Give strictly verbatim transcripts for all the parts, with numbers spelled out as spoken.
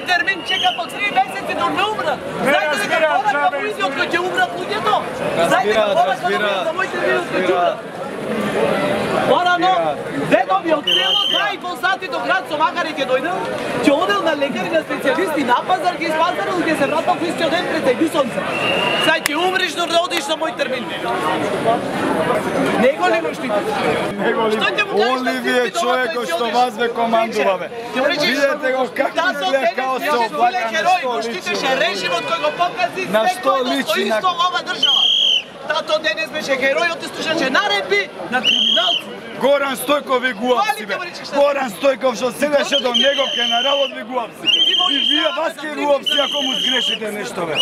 термин чека по три месеци да ме умрат. Знаете дека порака во изјот кој ќе умрат луѓето? Знаете дека порака за мој термин кој ќе умрат? Порано, дедови од село два и пол сати до град со Макари ќе дојдел, ќе одел на лекари, на специјалисти, на пазар, ќе испазарил, ќе се вратил во истиот ден пред еди сонце. Сај ќе умриш док да одиш на мој термин. Него ли го штитиш? Оливие човекот што вас ве командува бе. Видете го како изгледа као се облака на што личи. Штитеше режимот кој го покази на што личи на ова држава. Тато денес беше геројот и слушаше наредби на криминалци. Горан Стојков ви гуапси бе. Горан Стојков што седеше до него генералот ви гуапси. И вие вас ке гуапси ако му сгрешите нешто бе.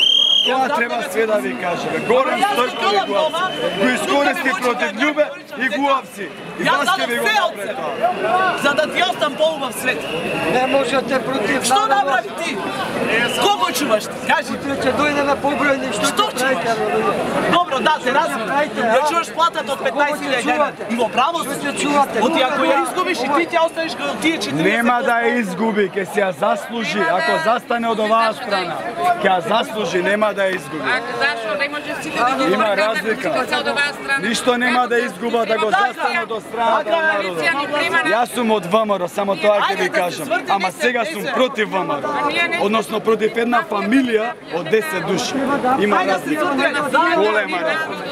Тоа треба све да ви каже бе. Горан Стојков ви гуапси. Го искористи против Љубе и гуапси. И вас ке ви го направи тоа. За да ти остам поубав свет. Не можете против. Што направи ти? Кого чуваш ти? Кажи. Ќе дојде на побројни што Што чуваш? Добро, да, те разбирам. Ја чуваш платата од петнаесет илјади евра. Има право се чувате. Оти ако ја изгубиш и ти ќе останеш како тие четириесет. Нема да ја изгуби, ќе си ја заслужи. Ако застане од оваа страна, ќе ја заслужи, нема да ја изгуби. Зашо не може сите да ги Има разлика. Ништо нема да изгуба да го застане до страната на народот. Јас сум од ВМРО, само тоа ќе ви кажам. Ама сега сум против ВМРО. Односно против една фамилија од десет души. Има разлика. Голема разлика.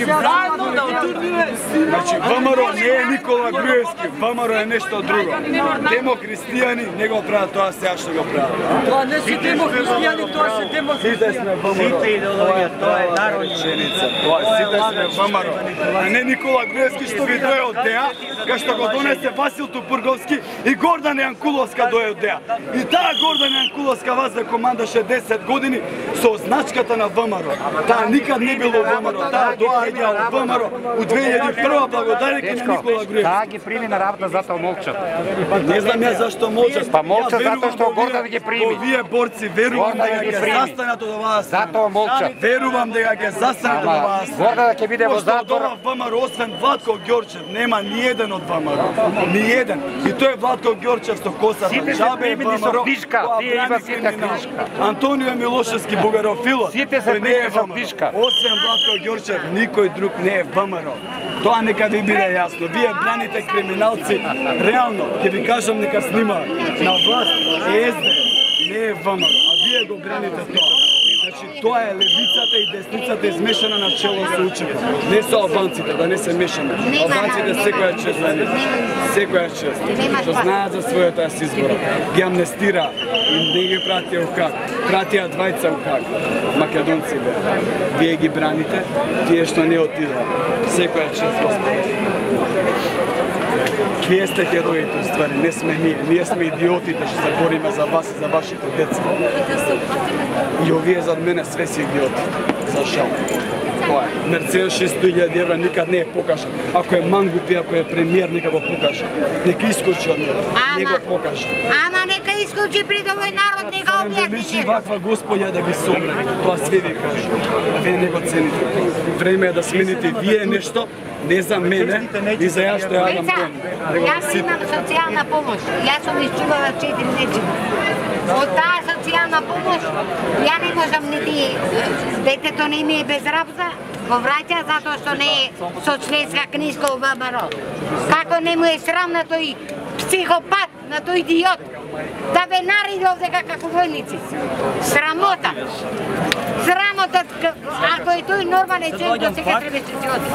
Заедно да отурниме сина. Значи ВМРО не е Никола Груевски, ВМРО е нешто друго. Демокристијани не го прават тоа сега што го прават. Тоа не се демокристијани, тоа се демокристијани. Сите сме ВМРО. Сите идеологија, тоа е народна реченица. Тоа сите сме ВМРО. А не Никола Груевски што ви дое од ДЕА, кај што го донесе Васил Тупурговски и Гордан Јанкуловска дое од ДЕА. И таа Гордан Јанкуловска вас да командаше десет години со означката на ВМРО. Таа никад не било ВМРО, таа доаѓа од ВМРО у две илјади и прва благодарејќи на Никола Груевски. Таа ги прими на работа, затоа молчат. Не знам ја зашто молчат. Па молчат затоа што Гордан ги прими. Овие борци верувам дека ќе застанат од оваа страна. Затоа молчат. Верувам дека ќе застанат од оваа страна. Гордан ќе биде во затвор. ВМРО освен Владко Ѓорчев нема ниеден од ВМРО. Ниеден. И тој е Владко Ѓорчев со косата. Сите се примени со книжка. Тие има сите книжка. Антонио Милошевски бугарофилот. Сите се примени со книжка. Освен Владко Ѓорчев никој друг не е ВМРО. Тоа нека ви биде јасно. Вие браните криминалци. Реално, ќе ви кажам нека снима на власт е СД, не е ВМРО, а вие го браните тоа. Значи, тоа е левицата и десницата измешана на чело со учепа. Не со албанците, да не се мешаме. Албанците секоја чест за нив. Секоја чест. Што знаат за својата си избора. Ги амнестира и не ги пратија у как. Пратија двајца у как. Македонци бе. Вие ги браните, тие што не отидоа. Секоја чест, Господи. Вие сте героите, ствари, не сме ние. Ние сме идиотите што се бориме за вас и за вашите деца. И овие зад мене све си идиоти. За жал. Тоа е. Мерцедес шестоста илјади евра никад не е покажан. Ако е мангупи, ако е премиер, нека го покаже. Нека искочи од него. Не го покаже. Ама нека искочи пред овој народ, нека објасни. Личи ваква господја да ви собре. Тоа све ви кажа. А вие не го цените. Време е да смените вие нешто, не за мене и за јас што ја Адам Тон. Јас имам социјална помош. Јас сум изчувала четири нечини. Од таа социјална помош, ја не можам нити детето не ми е без работа, го враќа затоа што не е со членска книжка во ВМРО. Како не му е срам на тој психопат, на тој идиот, да ве нареди овдека како војници. Срамота. Срамота, ако е тој нормален човек, до сега требаше се оди.